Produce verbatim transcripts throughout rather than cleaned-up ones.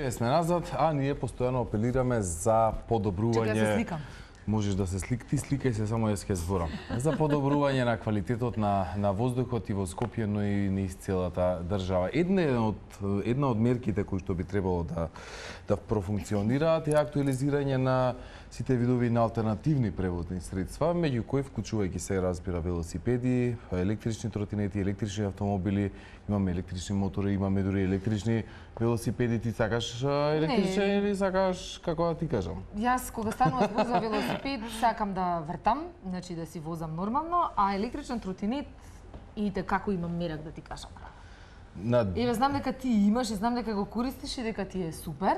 Сме назад, а ние постојано апелираме за подобрување. Чекај, се сликам. Можеш да се слик, ти сликај се, само јас ќе зборам. За подобрување на квалитетот на на воздухот и во Скопје, но и низ целата држава. Една од една од мерките кои што би требало да да профункционираат е актуализирање на сите видови на алтернативни превозни средства, меѓу кои вклучувајќи се разбира велосипеди, електрични тротинети, електрични автомобили, имаме електрични мотори, имаме дури електрични велосипеди. Ти сакаш електричен или сакаш, како да ти кажам? Јас кога станува збор за велосипед, сакам да вртам, значи да си возам нормално, а електричен тротинет и како имам мерак да ти кажам. На... Еве знам дека ти имаш и знам дека го користиш и дека ти е супер.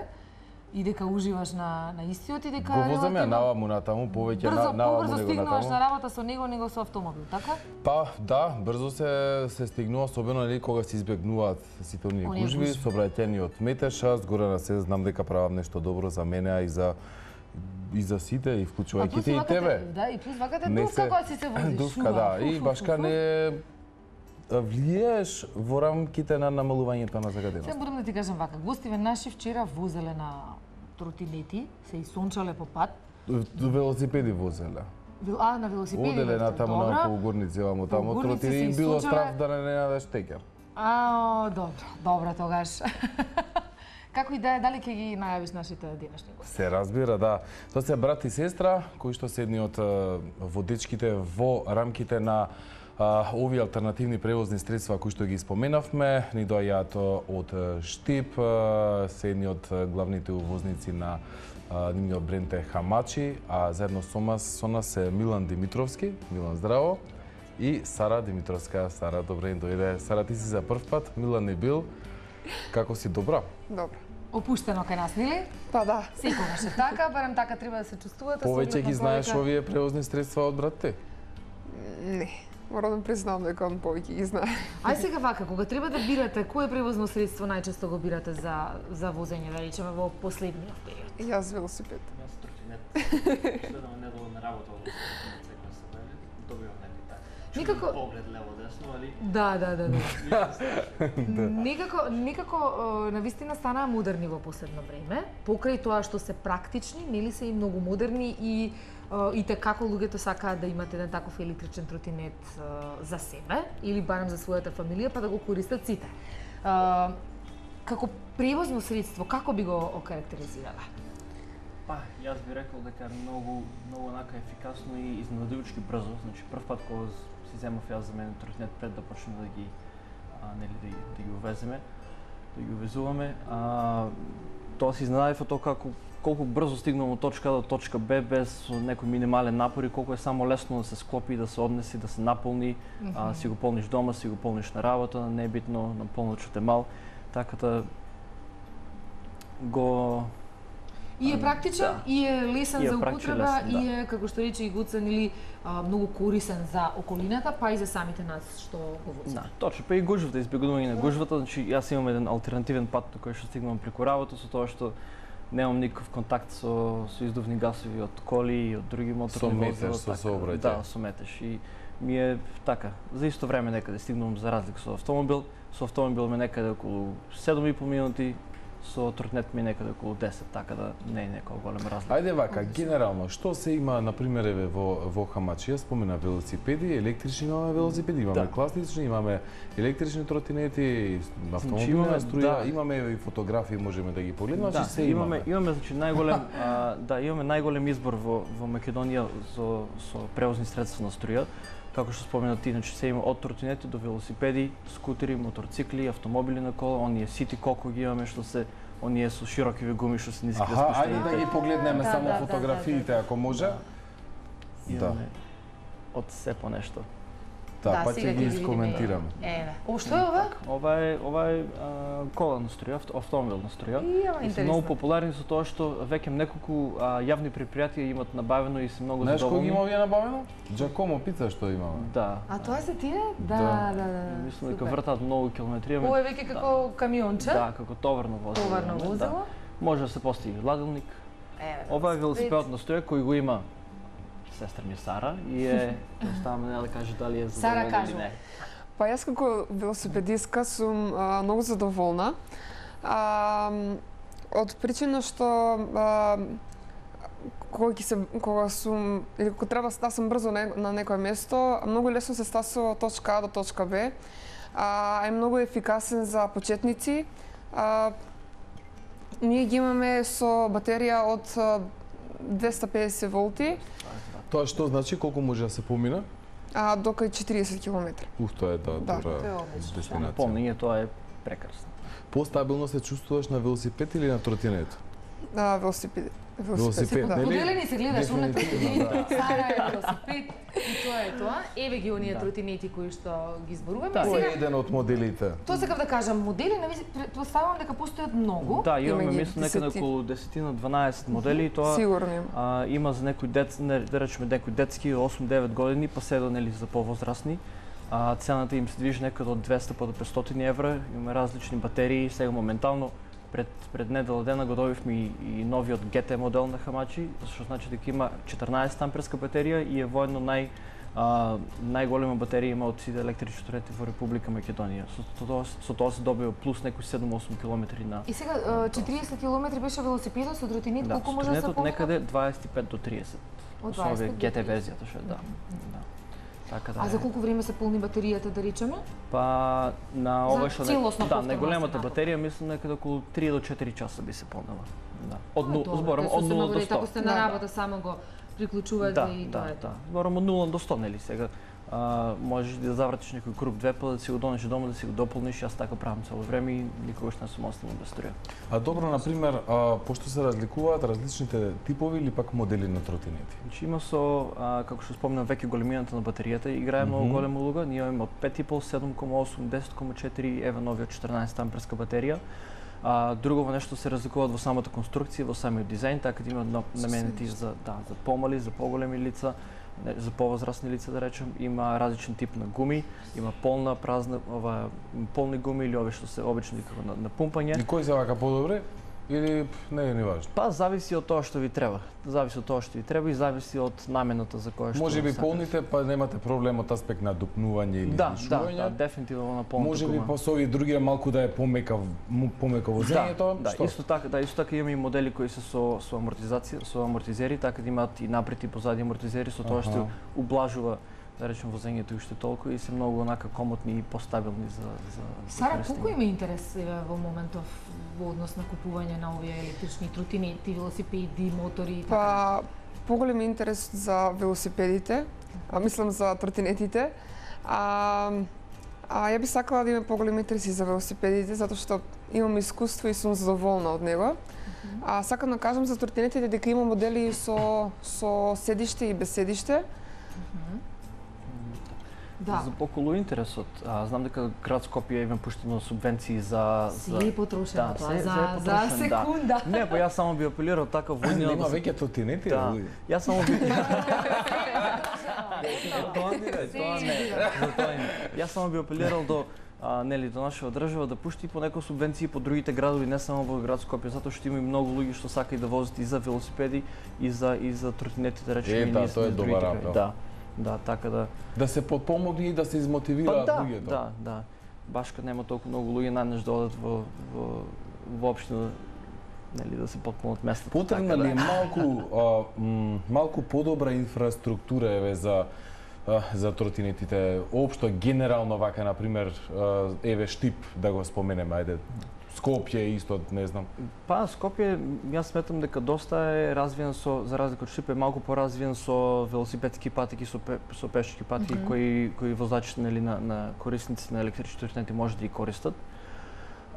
И дека уживаш на на истиот и дека го возам ја наваму натаму, повеќе на наваму него натаму. Брзо стигнуваш на работа со него, него со автомобил, така? Па, да, брзо се се стигнува, особено нели кога се избегнуваат сите оние гужви, сообраќајниот метеж, аз горе на се знам дека правам нешто добро за мене, а и за и за сите, и вклучувајќи те и тебе. Да, и плюс ваката дувка која си се возиш. Дувка, да, и башка не влиеш во рамките на намалувањето на загаденост. Се морам да ти кажам вака, гостиве наши вчера возеле на тротинети, се и сончале по пат. Велосипеди возеле. А, на велосипеди. Оделе на таму на полугорници, вамо таму тротинети и било страв да не најдеш текер. А, добро, добро тогаш. Како и да е, дали ќе ги најавиш нашите денешни гости? Се разбира, да. Тоа се брат и сестра, кои што се едни од водечките во рамките на Uh, овие алтернативни превозни средства кои што ги споменавме, ни доаѓаат од Штип, uh, се едни од главните увозници на uh, нивниот бренд е Хамачи, а заедно со нас, со нас е Милан Димитровски. Милан, здраво. И Сара Димитровска. Сара, добре им дојде. Сара, ти си за прв пат, Милан не бил. Како си, добра? Добро. Опуштено кај нас, нели? Па да. Секогаш е така, барем така треба да се чувствувате. Повеќе ги знаеш овие превозни средства од брат ти? Не. Морам да признам дека он повеќе ги знае. Ај сега вака, кога треба да бирате, кое превозно средство најчесто го бирате за за возење, да речеме во последниот период? Јас велосипед. Јас тротинет. Следам недолу на работа од тротинет сега се бавам. Добивам некој така. Никако поглед лево десно, али? Да, да, да, да. Некако некако навистина станаа модерни во последно време, покрај тоа што се практични, нели се и многу модерни и и те како луѓето сакаат да имат еден таков електричен тротинет за себе или барем за својата фамилија, па да го користат сите. Како превозно средство, како би го окарактеризирала? Па, јас би рекол дека е многу многу онака ефикасно и изненадувачки брзо. Значи прв пат кога си земав јас за мене тротинет пред да почнеме да ги а, нели да, да ги увеземе, да ги увезуваме, а, тоа се изненадив од тоа како колку брзо стигнам од точка А до точка Б без некој минимален напор и колку е само лесно да се склопи, да се однеси, да се наполни, mm -hmm. а, си го полниш дома, си го полниш на работа, не е битно на полночот е мал, така да го И е практичен, да. И е лесен и е за употреба, лесен, да. и е, како што рече и Гуцен, или а, многу корисен за околината, па и за самите нас што го возиме. Да, точно, па и гужвата, избегнување на гужвата, значи јас имам еден алтернативен пат на кој што стигнувам преку работа, со тоа што немам никаков контакт со со издувни гасови од коли и од други моторни возила, со сообраќај. Да, со метеж и ми е така, за исто време некаде стигнувам за разлика со автомобил, со автомобил ме некаде околу седум и пол минути, со тротинет ми некаде околу десет, така да не е некоја голема разлика. Ајде вака, генерално, што се има, на пример, еве во во Хамачи, јас спомена велосипеди, електрични имаме велосипеди, имаме да. класични, имаме електрични тротинети, автомобилна имаме, струја, да. имаме и фотографии, можеме да ги погледнеме, да, се имаме. имаме. Имаме, значи најголем, а, да, имаме најголем избор во во Македонија со со превозни средства на струја. Како што спомена ти, значи се има од тротинети до велосипеди, скутери, моторцикли, автомобили на кола, оние сити коко ги имаме што се оние со широкиви гуми што се ниски спуштени. Аха, ајде да ги погледнеме да, само да, фотографиите, да, да, ако може. Да. Имаме од се по нешто. Да, да, па ќе ги искоментираме. Еве. О, што е ова? Ова е ова е а, кола на струја, автомобилна струја. И се многу популарни со тоа што веќе неколку а, јавни предпријатија имат набавено и се многу задоволни. Знаеш кој ги има овие набавено? Джакомо пица што имаме. Да. А тоа се тие? Да, да, да, да. Мислам дека вртаат многу километри. Ова е веќе како да. камионче? Да, како товарно возило. Товарно возило? Да. Може да се постави ладилник. Еве. Ова е велосипедот на струја кој го има сестра ми Сара и е оставаме да каже дали е задоволна или не. Па јас како велосипедистка сум а, многу задоволна. А, од причина што а, кога ќе се кога сум или кога треба да сум брзо на, на некое место, многу лесно се стасува од точка А до точка Б. А, е многу ефикасен за почетници. А, ние ги имаме со батерија од двеста и педесет волти. Тоа што значи колку може да се помина? А, до кај четириесет километри. Ух, тоа е да, Да. добра Тоа е одлично. дестинација. Помнење, тоа е прекрасно. Постабилно се чувствуваш на велосипед или на тротинет? А, велосипед. Велосипед, да. нели? Поделени се гледаш уна Дефинитивно, да. Сара е велосипед и тоа е тоа. Еве ги оние тротинети кои што ги зборуваме. Да. Кој е Сега еден од моделите? тоа сакав да кажам, модели нависи претпоставувам дека постојат многу. Да, имаме Има ги мислам некаде десети. околу десет дванаесет модели и тоа Сигурно има. а, има за некои дет, не, да речеме некои детски осум-девет години, па се до нели за повозрастни. А, цената им се движи некаде од двеста па до петстотини евра. Имаме различни батерии. Сега моментално пред пред недела дена го добивме и, и новиот Г Т модел на Хамачи, што значи дека има четрнаесет амперска батерија и е воедно нај а, најголема батерија има од сите електрични тротинети во Република Македонија. Со тоа со тоа се добива плюс некои седум-осум километри на. И сега а, четириесет километри беше велосипедот со тротинет, Да, колку може да се тротинетот помина? некаде дваесет и пет до триесет. Од Со овие дваесет до Г Т триесет. верзијата што е, да. Да. Така да. А за е. колку време се полни батеријата, да речеме? Па на За ова што целосно да, повторно најголемата се батерија мислам некаде околу три до четири часа би се полнела. Да. Од А, нула, добро, зборам тоа од се нула до набори, сто. Ако сте на Да, да. работа само го приклучувате Да, и да, тоа е. да. Зборам од нула до сто, нели сега. А, можеш да завратиш некој круг две па да си го донеш дома да си го дополниш, јас така правам цело време и никогаш не сум останал без струја. А добро, на пример, а, пошто се разликуваат различните типови или пак модели на тротинети? Значи има со, а, како што спомнав веќе, големината на батеријата играе многу Мгм. голема улога. Ние имаме од пет и пол, седум кома осум, десет кома четири, еве новиот четрнаесет амперска батерија. А, друго нешто се разликуваат во самата конструкција, во самиот дизајн, така да има на- наменети за да, за помали, за поголеми лица, не, за повозрастни лица да речем, има различен тип на гуми, има полна, празна, ова полни гуми или овие што се обично викаат на, на пумпање. И кој се вака подобре? Или пф, не е ни важно? Па зависи од тоа што ви треба. Зависи од тоа што ви треба и зависи од намената за која што Може би сакате. полните, па немате проблем од аспект на допнување или Да, да, шување. да, дефинитивно на полната Може би гума. па со овие други малку да е помека му- помека возењето, Да, што? исто така, да, исто така имаме и модели кои се со со амортизација, со амортизери, така да имаат и напред и позади амортизери, со тоа што Аха. ублажува да речем возењето уште толку и се многу онака комотни и постабилни за за за Сара, користење. колку има интерес еве, во моментов во однос на купување на овие електрични тротинети, велосипеди, мотори и така? Па, поголем интерес за велосипедите, а мислам за тротинетите. А, а ја би сакала да има поголем интерес и за велосипедите, затоа што имам искуство и сум задоволна од него. А сакам да кажам за тротинетите дека има модели со со седиште и без седиште. Да. За околу интересот, а, знам дека град Скопје има пуштено субвенции за за Се е потрошено Да, тоа, се- за, се е за потрошено, да. секунда. Не, па јас само би апелирал така војнина Има да се веќе тротинети, Да. луѓе. Јас само би тоа не е, Се тоа не е. избира. За тоа не. Јас само би апелирал до а, нели до нашава држава да пушти по некои субвенции по другите градови, не само во град Скопје, затоа што има и многу луѓе што сакаат да возат и за велосипеди и за и за тротинети, да речеме. Е, и да, ние тоа е сме добар другите апел. крај. Да. Да, така да. Да се подпомогне и да се Па измотивираат да, луѓето. да, да. Баш кога нема толку многу луѓе најнаш да одат во во во општина, нели да се потпомогнат местата. Потребна така ли е да. малку а, м, малку подобра инфраструктура еве за а, за тротинетите, општо генерално вака на пример а, еве Штип да го споменеме, ајде Скопје исто, не знам. Па Скопје, јас сметам дека доста е развиен со, за разлика од Штип, е малку поразвиен со велосипедски патеки, со, пе, со пешачки патеки, mm -hmm. кои кои возачите нели на, на корисници на електрични тротинети може да ги користат.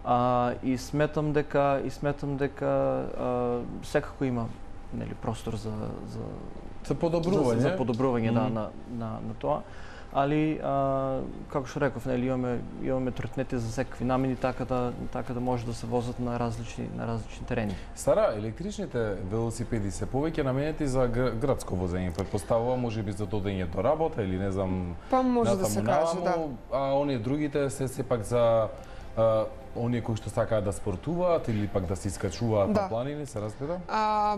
А, и сметам дека и сметам дека а, секако има нели простор за за За подобрување. За, за подобрување да, Мгм. на, на, на тоа. Али, а, како што реков, нели, имаме, имаме тротинети за секакви намени, така да, така да може да се возат на различни, на различни терени. Сара, електричните велосипеди се повеќе наменети за гр- градско возење, претпоставувам, можеби за додење до работа или не знам. Па може да се натаму каже, да. наваму, А оние другите се сепак за а, оние кои што сакаат да спортуваат или пак да се искачуваат Да. на планини, се разбира? А,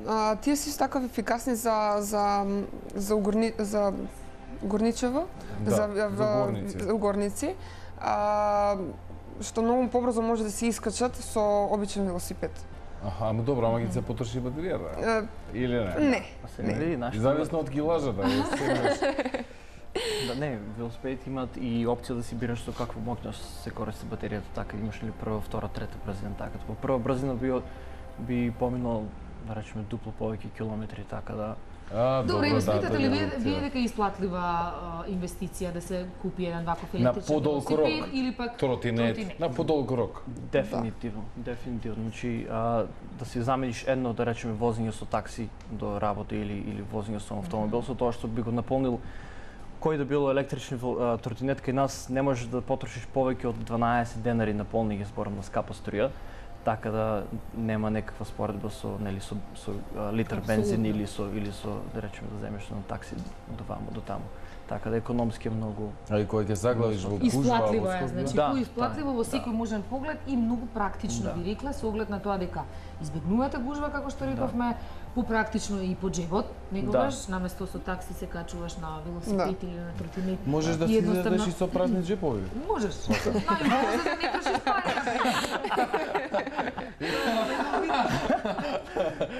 а, тие се така ефикасни за за за угорни за горничево, Да, за, за горници. за горници. А, што многу побрзо може да се искачат со обичен велосипед. Аха, ама добро, ама ќе се потроши батеријата. Или не? Не. А се види нашите Зависно од килажата, е, Да, не, велосипедите имаат и опција да си бираш со каква моќност се користи батеријата, така имаш ли прва, втора, трета брзина, така. По прва брзина би би поминал, да речеме, дупло повеќе километри, така да. А, Добре, да, сметате тоа ли е вие, опција. вие дека е исплатлива а, инвестиција да се купи еден ваков На електричен подолг велосипед рок, или пак тротинет, тротинет? на подолг рок. Дефинитивно, дефинитивно. Значи, а, да си замениш едно, да речеме, возење со такси до работа или или возење со автомобил, со тоа што би го наполнил кој да било електрични а, тротинет кај нас не можеш да потрошиш повеќе од дванаесет денари на полни, зборам на скапа струја, така да нема некаква споредба со нели со со а, литар бензин Апсолутно. или со или со да речеме да земеш на такси до ваму до таму. Така да економски е многу. А и кога ќе заглавиш во гужва, Исплатливо во е, Скопје? значи Да, да, исплатливо да, во секој да. можен поглед и многу практично Да. би рекла со оглед на тоа дека избегнувате гужва како што рековме, попрактично и по джебот, некогаш наместо со такси се качуваш на велосипед или на тротинет. Можеш да И си едноставно- излезеш и со празни джепови. Можеш. Најмногу за да не трошиш пари.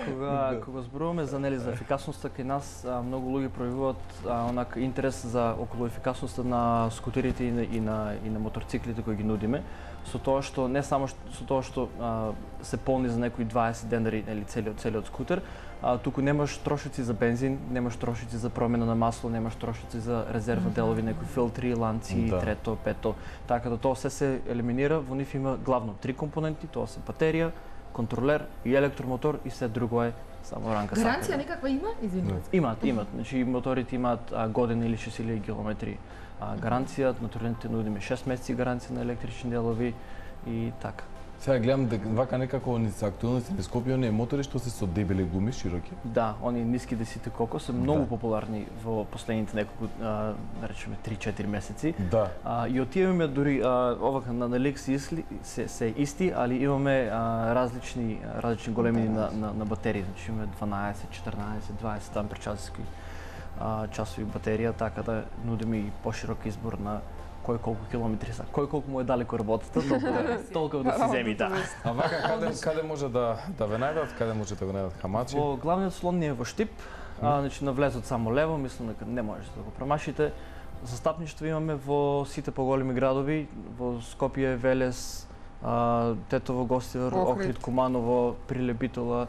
Кога кога зборуваме за нели за ефикасноста кај нас, а, многу луѓе пројавуваат а, онак интерес за околу ефикасноста на скутерите и на и на, и на моторциклите кои ги нудиме, со тоа што не само што, со тоа што а, се полни за некои дваесет денари нели целиот целиот скутер, а, туку немаш трошици за бензин, немаш трошици за промена на масло, немаш трошици за резервни делови, некои филтри, ланци, Да. трето, пето, така да тоа се се елиминира. Во нив има главно три компоненти, тоа се батерија, контролер и електромотор и се друго е само ранка Гаранција сакаме. некаква има? Извинувате. Имаат, имаат. Значи моторите имаат а, година или шест илјади километри а, гаранција, на турбините нудиме шест месеци гаранција на електрични делови и така. Сега гледам дека вака некако они се актуелности на Скопје, оние мотори што се со дебели гуми, широки. Да, они ниски десите колко се многу Да. популарни во последните неколку, а, да речеме три-четири месеци. Да. А, и од тие имаме дури а, овака на налик се, исли, се, се исти, али имаме а, различни различни големини на, на, на батерии, значи имаме дванаесет, четрнаесет, дваесет там часови а, часови батерија, така да нудиме и поширок избор на кој колку километри са. Кој колку му е далеко работата, толку толку да си земи, да. А вака каде каде може да да ве најдат, каде може да го најдат хамачи? Во главниот слон ни е во Штип, а, значи на влезот само лево, мислам дека не можете да го промашите. Застапништво имаме во сите поголеми градови, во Скопје, Велес, а, Тетово, Гостивар, Охрид. Охрид, Куманово, Прилепитола,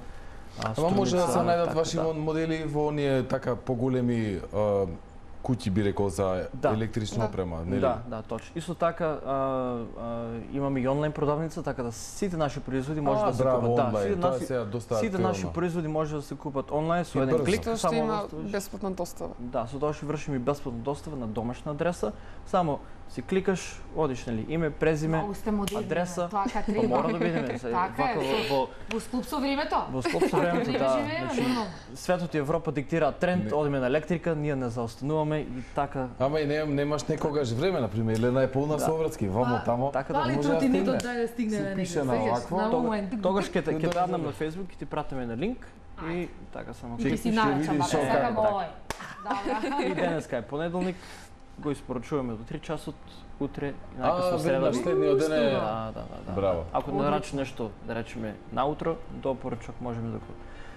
а, Ама може да се Струница, најдат така, ваши да. модели во оние така поголеми а, куќи би рекол за Да. електрична Да. опрема, нели? Да, да, точно. Исто така а, а, имаме и онлайн продавница, така да сите наши производи може А, да се браво, купат. Да, онлайн, сите тоа е наши, сега доста сите наши актуелно. производи може да се купат онлайн со И еден брзо. клик, Тоа што само има оставиш- бесплатна достава. Да, со тоа што вршим и бесплатна достава на домашна адреса. Само си кликаш, одиш нели име, презиме, Многу сте модерни, адреса. Тоа ка Па треба. мора да бидеме. се, Така е, вака со- во, во, Во склоп со времето. во склоп со времето, Време да. живееме, Значи, нормално. светот и Европа диктираат тренд, Не. одиме на електрика, ние не заостануваме и така. Ама и не, немаш некогаш време, например, или најполна Да. совратски, вамо Па, тамо. Така да Дали може да тротинетот стигне. дај да стигне Си на пише некој, на сеќаш, овакво, на Тога- момент. Тогаш ќе те ќе Да, паднам да, на да. Facebook и ти пратиме на линк и така само. И ќе си Ќе нарачам, видиш бака, шо сакам како. овој. Добра. И денеска е понеделник, го испорачуваме до три часот, утре и А, најкасно среда. веднаш следниот ден е... Да, да, да, да. Браво. Ако не нарачи нешто, да речеме наутро, до порачок можеме да го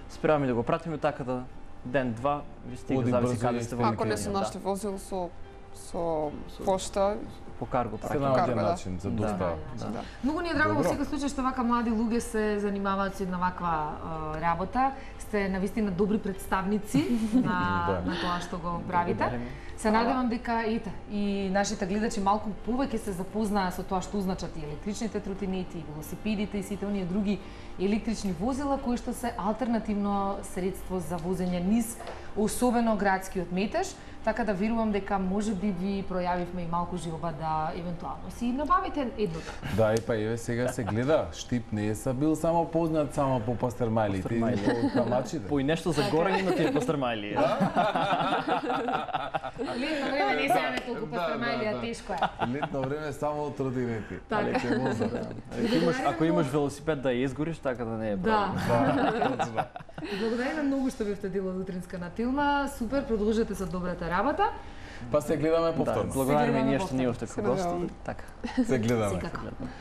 спремаме да го пратиме така да ден-два ви стига, Оди зависи брзо каде и сте стига. во Ако не се да. нашли возило со со Со- пошта, По карго Се праќаме. наоѓа Карго, да. начин за Да. достава. Да. да. Многу ни е драго во Добро. секој случај што вака млади луѓе се занимаваат со една ваква а, работа. Сте навистина добри представници на, Да. на тоа што го правите. Благодариме. Се надевам дека ете и нашите гледачи малку повеќе се запознаа со тоа што значат и електричните тротинети, и велосипедите и сите оние други електрични возила кои што се алтернативно средство за возење низ особено градскиот метеж, така да верувам дека можеби ви пројавивме и малку жилба да евентуално си набавите едното. Да, и па еве сега се гледа, Штип не е са бил само познат само по пастермајлите и Пастермајли. по камачите. По и нешто за горе има тие пастермајли. Летно време не се јаме толку Да, пастермајлија, да, да. тешко е. Летно време само тротинети. Така. Але ќе возат. Ако имаш, ако имаш велосипед да ја изгориш, така да не е Да. проблем. Да, точно. Благодариме многу што бевте дел од утринска на Тилма. Супер, продолжете со добрата работа. Па се гледаме Да, повторно. благодариме гледаме ние што повторно. ние овде Се како гости. надеваме. Така. Се гледаме. Секако. Гледаме.